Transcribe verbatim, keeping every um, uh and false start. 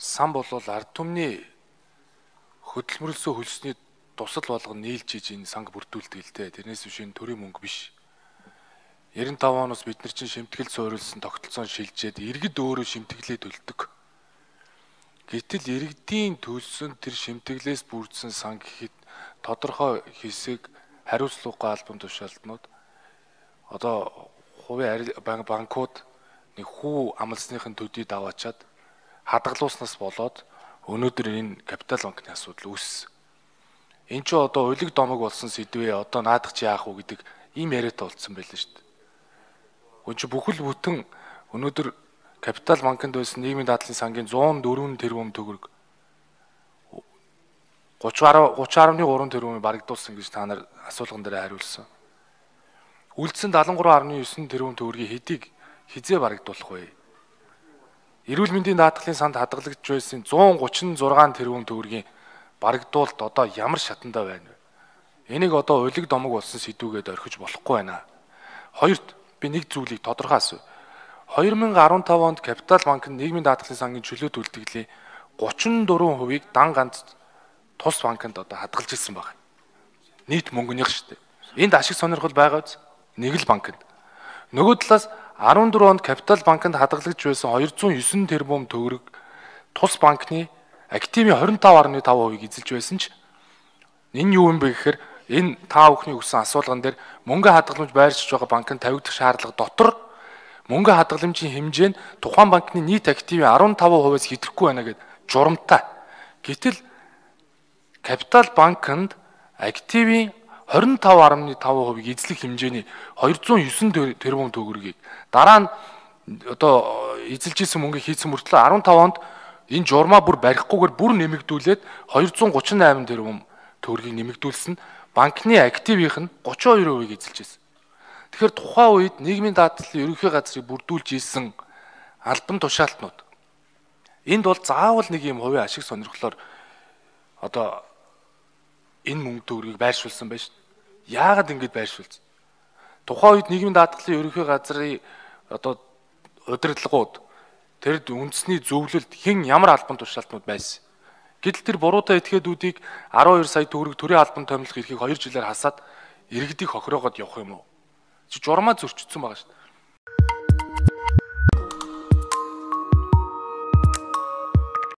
сан болвол ард түмний хөдөлмөрлсөн хөлсний тусал болгон нийлж иж энэ санг бүрдүүлдэг л дээ. Тэрнээс биш энэ төрийн мөнгө биш. девяносто тавь оноос бид нар чинь шимтгэл суурилсан тогтолцоон шилжээд иргэд өөрөө шимтгэлээ төлдөг. Гэтэл иргэдийн төлсөн тэр шимтгэлээс бүрдсэн сан гэхэд тодорхой хэсэг хариуцлагагүй албан тушаалтнууд одоо хувийн банкуд нэг хүү амлсныхын төдийд аваачаад хадгалууснаас болоод өнөөдөр энэ капитал банкны асуудал үүссэн. Энд ч одоо улиг домог болсон сэдвээ одоо наадах чи яах вэ гэдэг ийм яриатай болцсон байлаа шүү дээ. Гүн чи бүхэл бүтэн өнөөдөр капитал банкнд байсан нийгмийн дадлын сангийн зуун дөрвөн тэрбум төгрөг гуравч гаруй гурван тэрбумыг барагдуулсан гэж та нар асуулган дээр хариулсан. Үлдсэн дадлан гурван гаруй девять тэрбум төгрөгийг хэдийг хизээ барагдуулах вэ? Эрүүл мэндийн даатгалын санд хадгалагдж байсан зуун гучин зургаан тэрбум төгрөгийн барагдуулалт одоо ямар шатандаа байна вэ? Энийг одоо улиг домог болсон сэдвүүгээд орхиж болохгүй байна. Хоёрт би нэг зүйлийг тодорхой асууя. две тысячи десять онд Капитал банк нь нийгмийн даатгалын сангийн чөлөөт үлдгэлийн гучин дөрвөн хувийг дан ганц тус банкнд одоо хадгалж ирсэн байна. Нийт мөнгөнийх шүү дээ. Энд ашиг сонирхол байгаа биз? Нэг л банкнд. Нөгөө талаас дөрвөн онд Капитал банкнд хадгалж байсан двести девять тэрбум төгрөг тус банкны активын двадцать пять гаруй пять хувийг эзэлж байсан ч энэ юу юм бэ гэхээр энэ та бүхний өгсөн асуулган дээр мөнгө хадгаламж байршиж байгаа банкнд тавигдах шаардлага дотор мөнгө хадгаламжийн хэмжээ нь тухайн банкны нийт активын десять хувиас хэтрэхгүй байна гэд журамтай. Гэтэл Капитал банкнд активын двадцать пять гаруй пять хувийг эзлэх хэмжээний двести девять тэрбум төгрөгийг дараа нь одоо эзэлж исэн мөнгө хийсэн мөртлөө15 онд энэ журмаа бүр барихгүйгээр бүр нэмэгдүүлээд двести гуравч восемь тэрбум төгрөгийг нэмэгдүүлсэн банкны активийнх нь тридцать two хувийг эзэлж исэн. Тэгэхээр тухайн үед нийгмийн даатгалын ерөнхий газрыг бүрдүүлж исэн албан тушаалтнууд энд бол заавал нэг юм хувийн ашиг сонирхлоор одоо энэ мөнгө төгрөгийг байршуулсан байж. Яагаад ингэж байршуулсан? Тухайн үед нийгмийн даатгалын ерөнхий газрын одоо удирдлагууд тэр үндэсний зөвлөлд хэн ямар албан тушаалтнууд байсан. Гэтэл тэр буруутай этгээдүүдийг twelve сая төгрөг төрийн албан томилох эрхийг two жилээр хасаад иргэдийг хохироогоод явах юм уу? Чи журмаа зөрчсөн байгаа шүү дээ.